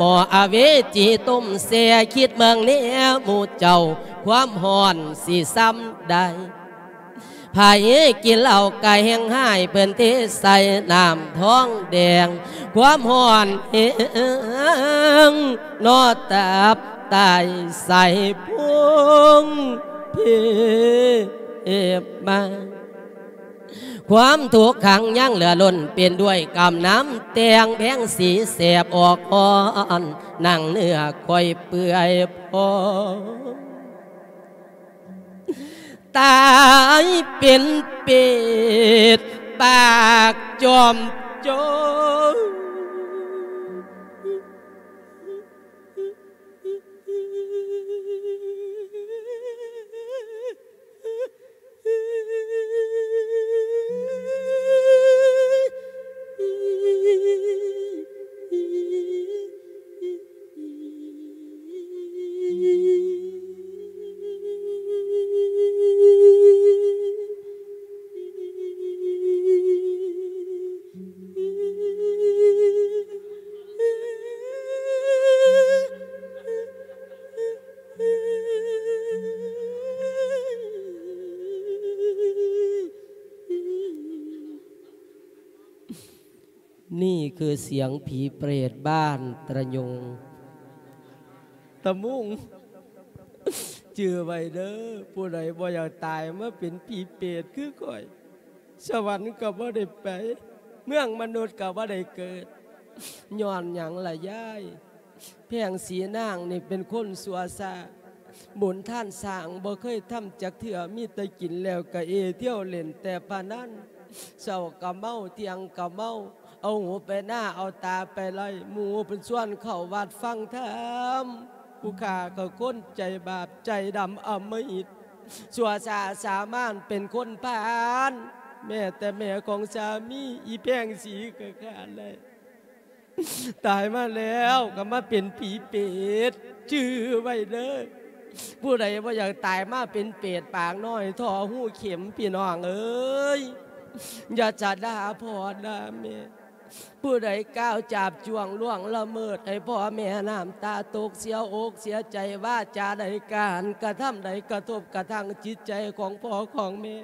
ໝໍ້ອະເວຈີຕົ້ມແຊ່ ຄິດເບິ່ງແນ່ໝູ່ເຈົ້າ ຄວາມຮ້ອນຊິຊ່ຳໃດ. ໃຜກິນເຫຼົ້າກະແຮ່ງຮ້າຍ ເພິ່ນເທໃສ່ນ້ຳທອງແດງ ຄວາມຮ້ອນແຮງ ເນາະຕັບໄຕໄສ້ພຸງເພມາ. ຄວາມທຸກຂັງຍັງເຫຼືອລົ້ນ ເປັນດ້ວຍກຳນ້ຳແຕ່ງ ແພງສີແສບອອກຮ້ອນ ໜັງເນື້ອຂ້ອຍເປື່ອຍພອງ ຕາຍເປັນເປດປາກຈອມໂຈນ. ນີ້ຄືສຽງຜີເປດບ້ານຕະຍຸງ ຕະມຸງ. ຈື່ໄວ້ເດີ ຜູ້ໃດບໍ່ຢາກຕາຍມາເປັນຜີເປດຄືຂ້ອຍ ສະຫວັນກໍບໍ່ໄດ້ໄປ ເມືອງມະນຸດກໍບໍ່ໄດ້ເກີດ. ຍ້ອນຫຍັງລະຍາຍ? ແພງສີນາງນີ້ເປັນຄົນຊົ່ວຊ້າ ບຸນທ່ານສ້າງບໍ່ເຄີຍທຳຈັກເທື່ອ ມີແຕ່ກິນແລ້ວກະເອ ທ່ຽວຫຼິ້ນແຕ່ພະນັນ ເຊົ້າກະເມົາ ທ່ຽງກະເມົາ ເອົາຫູໄປນາ ເອົາຕາໄປໄລ່ ໝູ່ເພິ່ນຊວນເຂົ້າວັດຟັງທຳ. ຜູ້ຂ້າກໍຄົນໃຈບາບໃຈດຳອຳມະຫິດ ຊົ່ວຊ້າສາມານເປັນຄົນພານ ແມ້ແຕ່ແມ່ຂອງສາມີ ອີແພງສີກໍຂ້າໄດ້ ຕາຍມາແລ້ວກໍມາເປັນຜີເປດ. ຈື່ໄວ້ເດີ ຜູ້ໃດບໍ່ຢາກຕາຍມາເປັນເປດປາກນ້ອຍທໍ່ຮູເຂັມ ພີ່ນ້ອງເອີຍ ຢ່າຈະດ່າພໍ່ດ່າແມ່. ຜູ້ໃດກ້າວຈາບຈ້ວງລ່ວງລະເມີດໃຫ້ພໍ່ແມ່ນ້ຳຕາຕົກ ເສຍອົກເສຍໃຈ ວາຈາໃດການກະທຳໃດກະທົບກະທັ່ງຈິດໃຈຂອງພໍ່ຂອງແມ່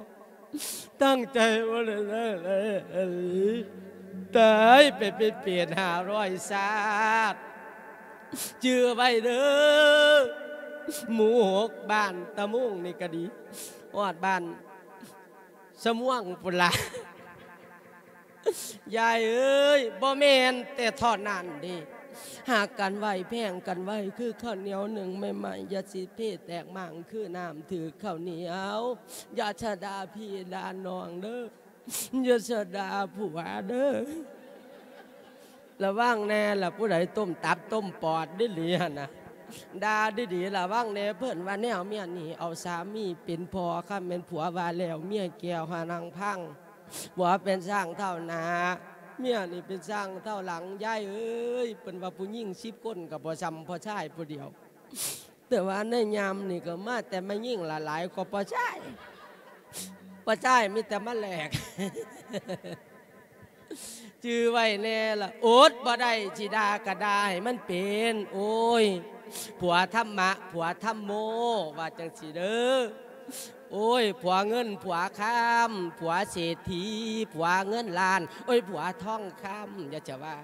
ຕັ້ງໃຈບໍ່ໄດ້ເລີຍ ຕາຍໄປເປັນເປດຫ້າຮ້ອຍຊາດ. ຈື່ໄວ້ເດີ ໝູ່ຫົກບ້ານຕະມຸງນີ້ກະດີ ຮອດບ້ານສະມ່ວງພຸ້ນລະ. ຍາຍເອີຍ ບໍ່ແມ່ນແຕ່ເທົ່ານັ້ນເດ້ ຮັກກັນໄວ້ ແພງກັນໄວ້ ຄືເຂົ້າໜຽວໜຶ້ງໃໝ່ໆ ຢ່າຊິເພແຕກໝ້າງ ຄືນ້ຳຖືກເຂົ້າໜຽວ. ຢ່າຊະດ່າພີ່ດ່ານ້ອງເດີ ຢ່າຊະດ່າຜົວເດີ. ລະວັງແນ່ລະ ຜູ້ໃດຕົ້ມຕັບຕົ້ມປອດດີໆຫັ້ນນະ ດ່າດີໆ ລະວັງແນ່. ເພິ່ນວ່າແນວເມຍນີ້ ເອົາສາມີເປັນພໍ່ ຄັນແມ່ນຜົວວ່າແລ້ວ ເມຍແກ້ວຫານັ່ງພັງ. ຜົວເປັນຊ້າງເທົ້າໜ້າ ເມຍນີ້ເປັນຊ້າງເທົ້າຫຼັງ ຍາຍເອີຍ. ເພິ່ນວ່າຜູ້ຍິງສິບຄົນກໍບໍ່ຊ່ຳຜູ້ຊາຍຜູ້ດຽວ ແຕ່ວ່າໃນຍາມນີ້ກໍມາແຕ່ແມ່ຍິງຫຼາຍກວ່າຜູ້ຊາຍ ຜູ້ຊາຍມີແຕ່ມາແລກ. ຈື່ໄວ້ແນ່ລະ ອົດບໍ່ໄດ້ ຊິດ່າກໍດ່າໃຫ້ມັນເປັນ. ໂອ້ຍ ຜົວທຳມະ ຜົວທຳໂມ ວ່າຈັ່ງຊີ້ເດີ. ໂອ້ຍ ຜົວເງິນ ຜົວຄຳ ຜົວເສດຖີ ຜົວເງິນລ້ານ ໂອ້ຍ ຜົວທອງຄຳ. ຢ່າຈະວ່າ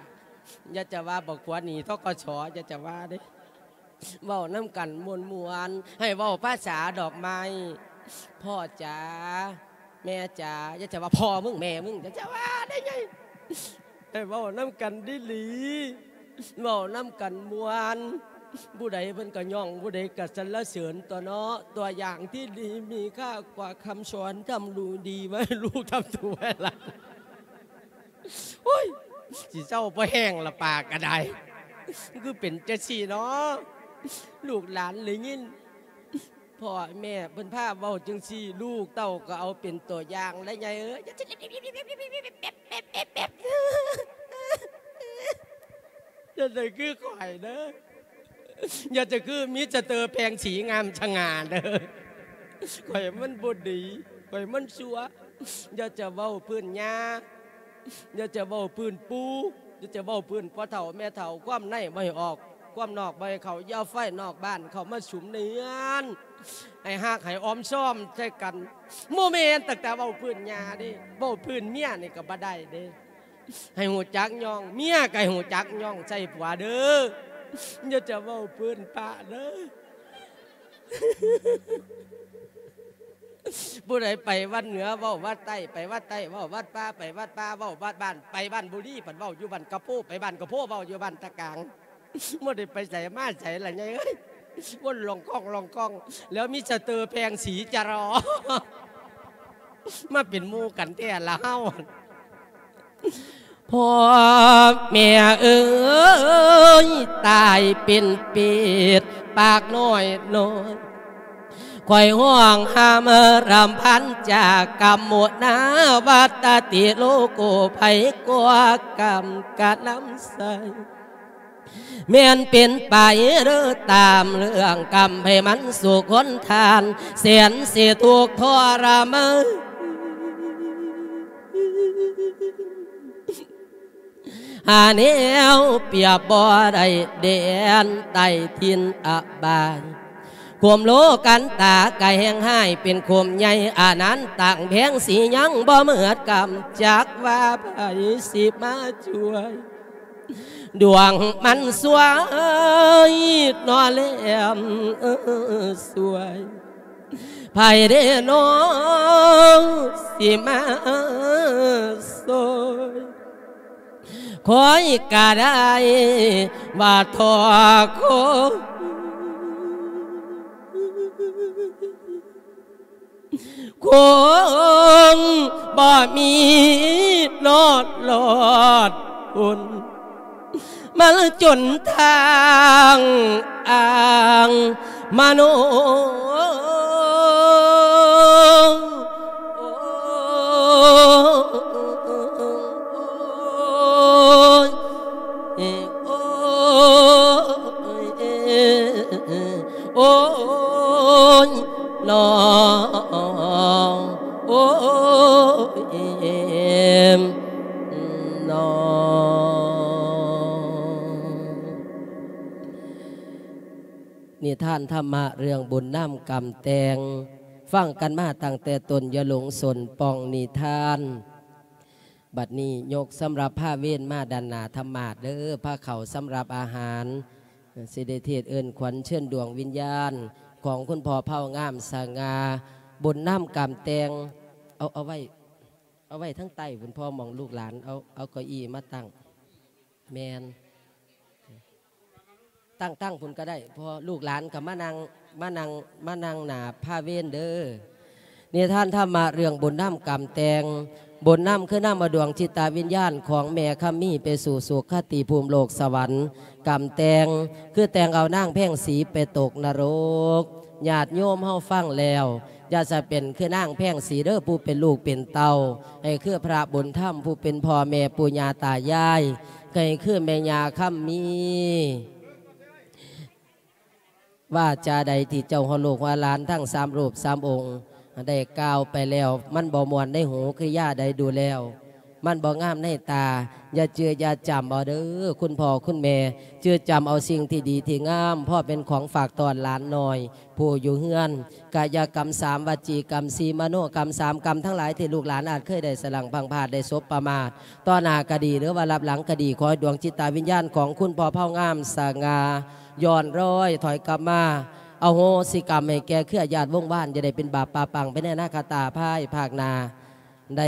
ຢ່າຈະວ່າບັກຜົວໜີ້ ທກສ ຢ່າຈະວ່າເດ້. ເວົ້ານຳກັນມ່ວນໆ ໃຫ້ເວົ້າພາສາດອກໄມ້. ພໍ່ຈ໋າ ແມ່ຈ໋າ ຢ່າຈະວ່າພໍ່ມຶງແມ່ມຶງ ຢ່າຈະວ່າໄດ້ໄງ. ໃຫ້ເວົ້ານຳກັນດີໆ ເວົ້ານຳກັນມ່ວນ ຜູ້ໃດເພິ່ນກໍຍ້ອງ ຜູ້ໃດກໍສັນລະເສີນຕົວະເນາະ. ຕົວຢ່າງທີ່ດີມີຄ່າກວ່າຄຳສອນ ທຳລູກດີໄວ້ລູກ ທຳໂຕໄວ້ຫຼານ. ໂອ້ຍ ຊິເຊົາບໍ່ແຮງລະ ປາກກໍໄດ້ ຄືເປັນຈັ່ງຊີ້ເນາະ. ລູກຫຼານໄດ້ຍິນພໍ່ແມ່ເພິ່ນພາເວົ້າຈັ່ງຊີ້ ລູກເຕົ້າກໍເອົາເປັນຕົວຢ່າງໄດ້ໃຫຍ່ເອີຍ. ຢ່າໄດ້ຄືຂ້ອຍເດີ ຢ່າຈະຄືມິສເຕີແພງສີງາມສະຫງ່າເດີ. ຂ້ອຍມັນບໍ່ດີ ຂ້ອຍມັນຊົ່ວ. ຢ່າຈະເວົ້າພື້ນຍ່າ ຢ່າຈະເວົ້າພື້ນປູ່ ດຽວຈະເວົ້າພື້ນພໍ່ເຖົ້າແມ່ເຖົ້າ ຄວາມໃນບໍ່ໃຫ້ອອກ ຄວາມນອກບໍ່ໃຫ້ເຂົ້າ ຢ່າໄຟນອກບ້ານເຂົ້າມາສຸມໃນເຮືອນ ໃຫ້ຮັກໃຫ້ອ້ອມຊອມໃສ່ກັນ. ບໍ່ແມ່ນຕັ້ງແຕ່ເວົ້າພື້ນຍ່າເດ້ ເວົ້າພື້ນເມຍນີ້ກໍບໍ່ໄດ້ເດ້. ໃຫ້ຮູ້ຈັກຍ້ອງເມຍ ກໍໃຫ້ຮູ້ຈັກຍ້ອງໃສ່ຜົວເດີ ຢ່າຈະເວົ້າພື້ນປະເດີ. ຜູ້ໃດໄປວັດເໜືອເວົ້າວັດໃຕ້ ໄປວັດໃຕ້ເວົ້າວັດປ່າ ໄປວັດປ່າເວົ້າວັດບ້ານ ໄປບ້ານບຸລີ ພັດເວົ້າຢູ່ບ້ານກະໂພ ໄປບ້ານກະໂພເວົ້າຢູ່ບ້ານຕະກາງ. ບໍ່ໄດ້ໄປໃສມາໃສລະໃຫຍ່ເອີຍ ວົນລ່ອງກ້ອງລ່ອງກ້ອງ ແລ້ວມີສະເຕີແພງສີຈະລໍ ມາເປັນໝູ່ກັນແທ້ລະເຮົາ. ພໍ່ແມ່ເອີຍ ຕາຍເປັນເປດປາກນ້ອຍນ້ອຍ ຂ້ອຍຮ້ອງຮຳລຳພັນຈາກກຳໂມນາວັດຕະຕິໂລໂກ ໃຜກວ່າກຳກະນຳໃສ ແມ່ນເປັນໄປເດີຕາມເລື່ອງກຳ ໃຜມັນສຸກຫົນທານ ແສນຊິທຸກທໍລະມານ ຫາແນວປຽບບໍ່ໄດ້ແດນໃຕ້ຖິ່ນອະບາຍ ຄວາມໂລກັນຕາກະແຮງຮ້າຍເປັນໂຄມໃຫຍ່ ອານັນຕັງແພງສີຍັງບໍ່ເໝິດກຳ ຈັກວ່າໃຜຊິມາຊ່ວຍ ດວງມັນສວຍນໍແຫຼມ ເອີ ສວຍ ໃຜເດນໍຊິມາຊ່ວຍ ຂ້ອຍກະໄດ້ວ່າທໍ່ຄົງ ຄົງບໍ່ມີນອດລອດພົ້ນ ມາຈົນທາງອ່າງມະໂນ ໂອ້ຍ ໂອ້ຍ ໂອ້ຍ ນ້ອງ ໂອ້ຍ ນ້ອງ. ນິທານທຳມະເລື່ອງບຸນນຳກຳແຕ່ງ ຟັງກັນມາຕັ້ງແຕ່ຕົ້ນ ຢ່າຫຼົງສົນປ່ອງນິທານ. ບັດນີ້ຍົກສຳລັບພາເວນມາດ້ານໜ້າທຳມາດເດີ ພາເຂົ້າສຳລັບອາຫານ ຊິໄດ້ເທດເອີ້ນຂວັນເຊີນດວງວິນຍານຂອງຄຸນພໍ່ເຜົ່າງາມສະຫງ່າ ບຸນນຳກຳແຕ່ງ ເອົາ ເອົາໄວ້ ເອົາໄວ້ທາງໃຕ້ພຸ້ນ ພໍ່ ໝ່ອງລູກຫຼານ ເອົາ ເອົາເກົ້າອີ່ມາຕັ້ງ ແມ່ນ ຕັ້ງ ຕັ້ງພຸ້ນກໍໄດ້ ເພາະວ່າລູກຫຼານກໍມານັ່ງ ມານັ່ງ ມານັ່ງໜ້າພາເວນເດີ. ນິທານທຳມະເລື່ອງບຸນນຳກຳແຕ່ງ. ບຸນນຳຄືນຳເອົາດວງຈິດຕະວິນຍານຂອງແມ່ຄຳມີໄປສູ່ສຸຄະຕິພູມໂລກສະຫວັນ. ກຳແຕ່ງຄືແຕ່ງເອົານາງແພງສີໄປຕົກນະລົກ. ຍາດໂຍມເຮົາຟັງແລ້ວ ຢ່າສະເປັນຄືນາງແພງສີເດີ ຜູ້ເປັນລູກເປັນເຕົ້າ, ໃຫ້ຄືພະບຸນທຳ ຜູ້ເປັນພໍ່ແມ່ປູ່ຍ່າຕາຍາຍ, ໃຫ້ຄືແມ່ຍ່າຄຳມີ. ວາຈາໃດທີ່ເຈົ້າຫົວລູກຫົວຫຼານທັງສາມຮູບສາມອົງໄດ້ກ່າວໄປແລ້ວ ມັນບໍ່ມ່ວນໃນຫູ ກິລິຍາໃດດູແລ້ວ ມັນບໍ່ງາມໃນຕາ ຢ່າຈື່ຢ່າຈຳເອົາເດີ ຄຸນພໍ່ຄຸນແມ່ ຈື່ຈຳເອົາສິ່ງທີ່ດີທີ່ງາມ ພໍເປັນຂອງຝາກຕ້ອນຫຼານນ້ອຍ ຜູ້ຢູ່ເຮືອນ. ກາຍະກຳສາມ ວະຈີກຳສີ່ ມະໂນກຳສາມ ກຳທັງຫຼາຍທີ່ລູກຫຼານອາດເຄີຍໄດ້ສະຫຼັ້ງພລັ້ງພາດ ໄດ້ສົບປະມາດ ຕໍ່ໜ້າກະດີ ຫຼືວ່າລັບຫຼັງກະດີ ຂໍໃຫ້ດວງຈິດຕາວິນຍານຂອງຄຸນພໍ່ເຜົ່າງາມສະຫງ່າ ຍ້ອນລອຍຖອຍກັບມາ ອະໂຫສິກຳໃຫ້ແກ່ເຄືອຍາດວົງວານ ຢ່າໄດ້ເປັນບາບປະປັງໄປໃນອະນາຄະຕາພາຍພາກໜ້າ ໄດ້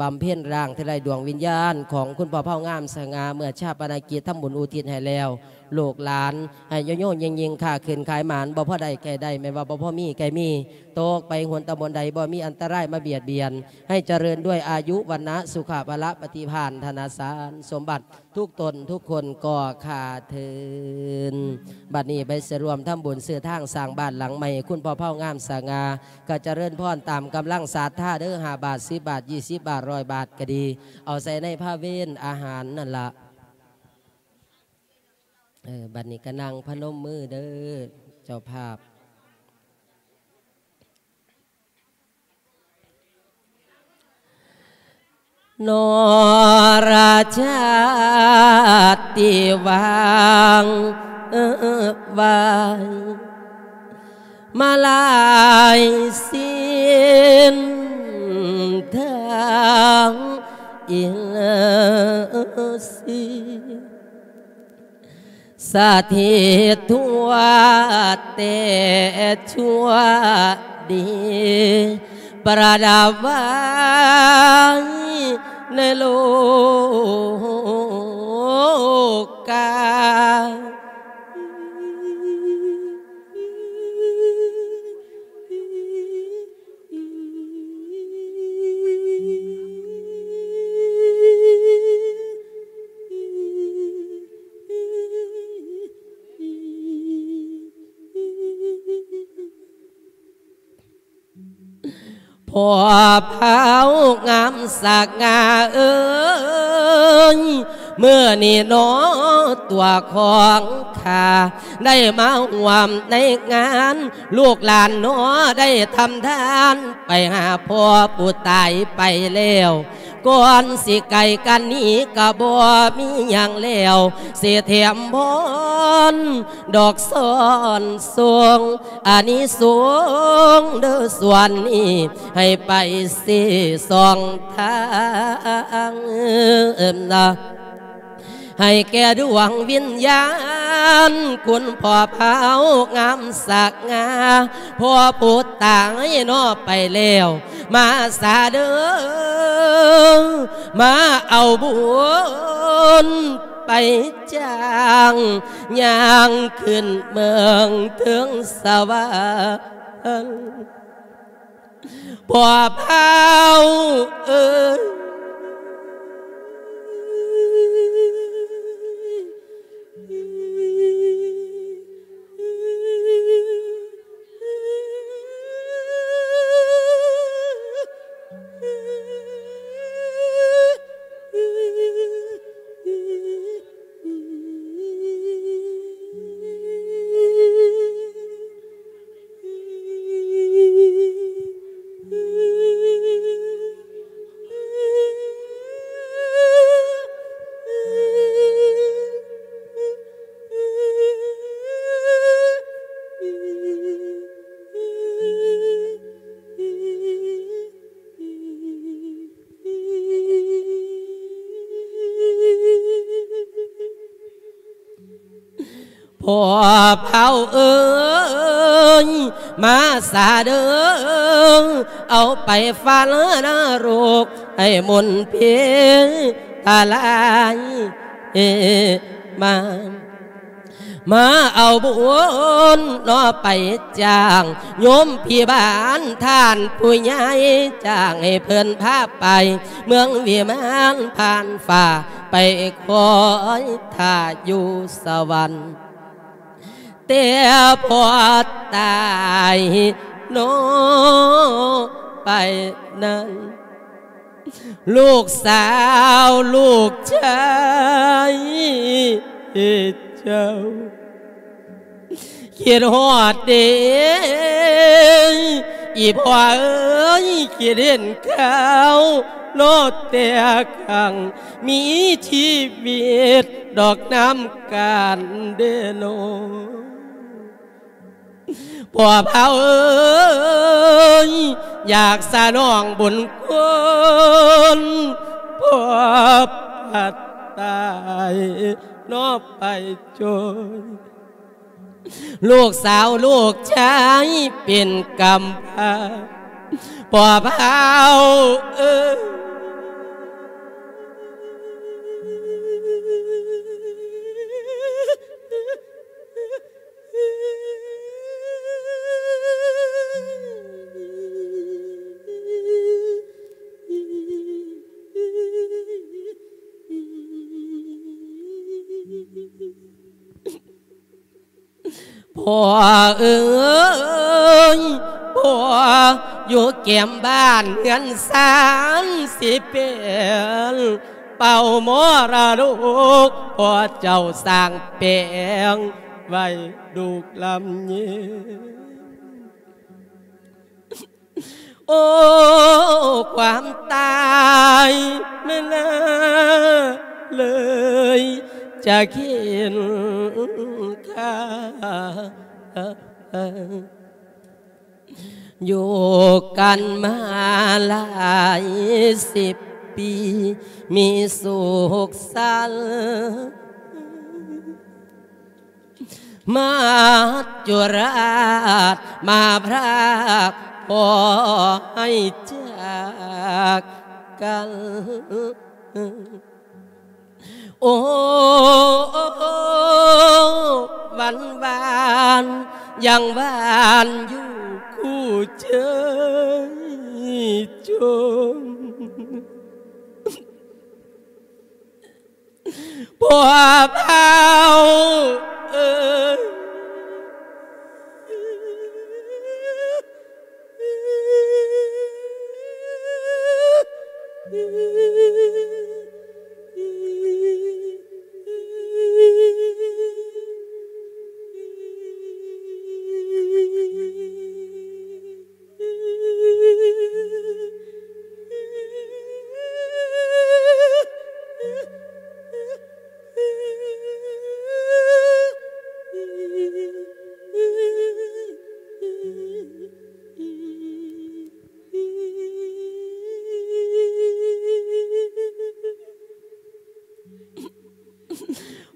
ບຳເພັນລ້າງທີ່ໄຮ້ດວງວິນຍານຂອງຄຸນພໍ່ເຜົ່າງາມສະຫງ່າ ເມື່ອຊາປະນະກິດທຳບຸນອຸທິດໃຫ້ແລ້ວ ລູກຫຼານໃຫ້ໂຍໂຍເຢັງໆ ຄ້າຂຶ້ນຂາຍໝານ ບໍ່ພໍໄດ້ໃຫ້ໄດ້ ແມ່ນວ່າບໍ່ພໍມີໃຫ້ມີ ຕົກໄປຫົນຕຳບົນໃດ ບໍ່ມີອັນຕະລາຍມາບຽດບຽນ ໃຫ້ຈະເລີນດ້ວຍອາຍຸ ວັນນະ ສຸຂະ ພະລະ ປະຕິພານ ທະນະສານ ສົມບັດ ທຸກຕົນທຸກຄົນກໍຂ້າເທີນ. ບັດນີ້ໄປສະລວມທຳບຸນຊື້ທາງສ້າງບ້ານຫຼັງໃໝ່ ຄຸນພໍ່ເຜົ່າງາມສະຫງ່າ ກໍຈະເລີນພອນຕາມກຳລັງສັດທາເດີ ຫ້າບາດ ສິບບາດ ຍີ່ສິບບາດ ຮ້ອຍບາດກໍດີ ເອົາໃສ່ໃນພາເວນອາຫານນັ້ນລະ. ເອີ ບັດນີ້ກໍນັ່ງພະນົມມືເດີ ເຈົ້າພາບ. ນໍລະຊາດທີ່ຫວ່າງໄຫວ ມາຫຼາຍເສັ້ນທາງອີກຊິ ສະຖິດທົ່ວແຕ່ຊົ່ວດີ ປະດັບໄວ້ໃນໂລກາ. ພໍ່ເຖົ້າງາມສັກງາເອີຍ ມື້ນີ້ໜໍຕົວຂອງຂ້າ ໄດ້ມາຮ່ວມໃນງານ ລູກຫຼານໜໍໄດ້ທຳທານ ໄປຫາພໍ່ຜູ້ຕາຍໄປແລ້ວ ກ່ອນຊິໄກກັນໜີກໍບໍ່ມີຫຍັງແລ້ວ ຊິແຖມພອນດອກຊ້ອນສົ່ງ ອານິສົງເດີສ່ວນນີ້ ໃຫ້ໄປຊີ້ສອງທາງ ໃຫ້ແກ່ດວງວິນຍານ ຄຸນພໍ່ເຖົ້າງາມສັກງາ ພໍ່ຜູ້ຕາຍເນາະໄປແລ້ວ ມາສາເດີ ມາເອົາບຸນໄປຈ້າງ ຍ່າງຂຶ້ນເມືອງເທິງສະຫວັນ. ພໍ່ເຖົ້າເອີຍ ພໍ່ເຖົ້າເອີຍ ມາສາເດີ ເອົາໄປຝັນນະລົກ ໃຫ້ມົນເພທະລາຍມາ ມາເອົາບຸນເນາະໄປຈ້າງ ໂຍມພີ່ບ້ານທ່ານຜູ້ໃຫຍ່ ຈ້າງໃຫ້ເພິ່ນພາໄປ ເມືອງວິມານຜ່ານຟ້າ ໄປຄອຍຖ້າຢູ່ສະຫວັນ ແຕ່ພໍຕາຍເນາະໄປນັ້ນ ລູກສາວລູກຊາຍເຈົ້າ ຄິດຮອດເດ້ ອີພໍ່ເອີຍ ຄິດເຫັນຂ່າວເນາະ ແຕ່ຄັ້ງມີຊີວິດດອກນຳກັນເດ້ເນາະ ພໍ່ພາເອີຍ ຢາກສະໜອງບຸນຄຸນ ພໍ່ພັດຕາຍເນາະໄປຈົນ ລູກສາວລູກຊາຍເປັນກຳພ້າ ພໍ່ພາເອີຍ. ພໍ່ເອີຍ ພໍ່ຢູ່ແກ້ມບ້ານເຮືອນຊານຊິເປັນ ເປົ່າມໍລະດົກ ພໍ່ເຈົ້າສ້າງແປງໄວ້ລູກລຳເຍນ. ໂອ້ ຄວາມຕາຍແມ່ນນາເລີຍຈະເຂັນຂ້າ ຢູ່ກັນມາຫຼາຍສິບປີ ມີສຸກສັນ ມາຈຸລາດມາພຣາກ ພໍໃຫ້ຈາກກັນ. ໂອ້ ວັນວານຍັງຫວານຢູ່ຄູ່ເຈີຍຈົນ ພວກເຮົາເອີຍ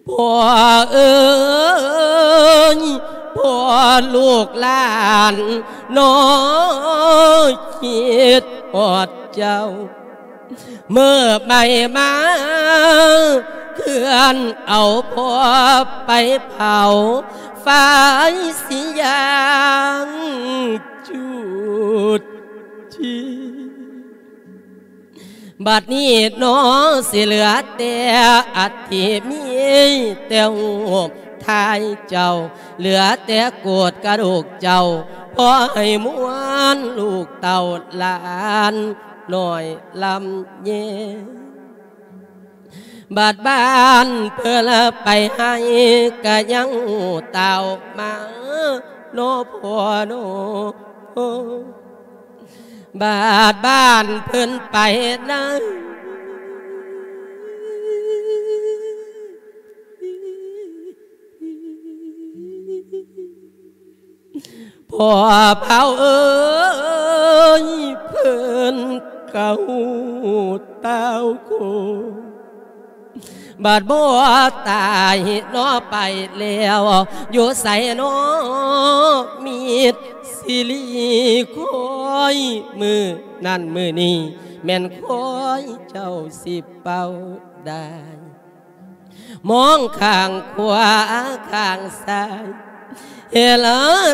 ພໍ່ເອີຍ ພໍ່ລູກຫຼານນ້ອຍຄິດຮອດເຈົ້າ ເມື່ອໄໝ່ມາເຄື່ອນເອົາພໍ່ໄປເຜົາ ໄຟຊິຍ່າງຈູດຈີ ບັດນີ້ໜໍ ຊິເຫຼືອແຕ່ອັດຖິ ມີແຕ່ຮູບຖ່າຍເຈົ້າ ເຫຼືອແຕ່ໂກດກະດູກເຈົ້າ ພໍໃຫ້ມ່ວນລູກເຕົ້າຫຼານນ້ອຍລຳແຍງ. ບາດບ້ານເພິ່ນໄປໃຫ້ກະຍັງເຕົ້າມາ ໂນພໍ່ໂນ ບາດບ້ານເພິ່ນໄປໃນ ພໍ່ເຜົ່າເອີຍ ເພິ່ນກະຮູ້ຕາວໂຄ ບາດບໍ່ຕາຍເນາະໄປແລ້ວ ຢູ່ໃສເນາະມິດຊິລີຄອຍ ມື້ນັ້ນມື້ນີ້ແມ່ນຄອຍເຈົ້າຊິເປົ່າໄດ້ ມອງຂ້າງຂວາຂ້າງຊ້າຍ ເຫັນ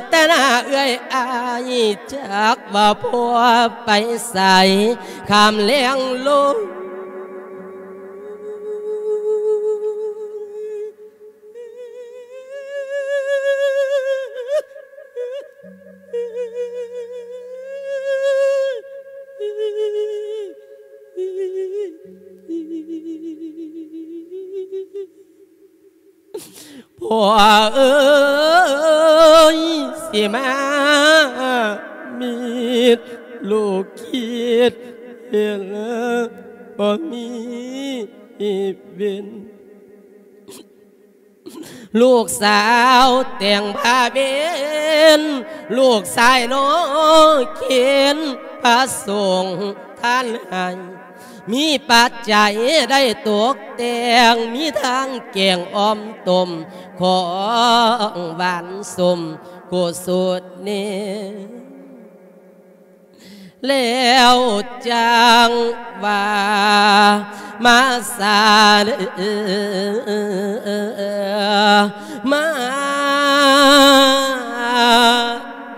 ແຕ່ໜ້າເອື້ອຍອ້າຍ ຈັກວ່າພໍ່ໄປໃສ ຂ້າມແລງລົງ. ພໍ່ເອີຍ ຊິມາມິດລູກຄິດເຫັນບໍ່ມີເວັນ ລູກສາວແຕ່ງຜ້າເວັນ ລູກຊາຍນ້ອຍເຂັນພະສົງທ່ານໃຫ້ ມີປັດໄຈໄດ້ຕົກແຕ່ງ ມີທັງແກງອ່ອມຕົ້ມ ຂອງຫວານສົ້ມ ກຸສົດແນ ແລ້ວຈັ່ງວ່າມາສາເດີ ມາ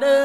ເດີ.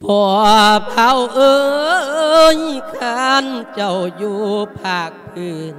ພໍ່ບ່າວເອີຍ ຄັນເຈົ້າຢູ່ພາກພື້ນ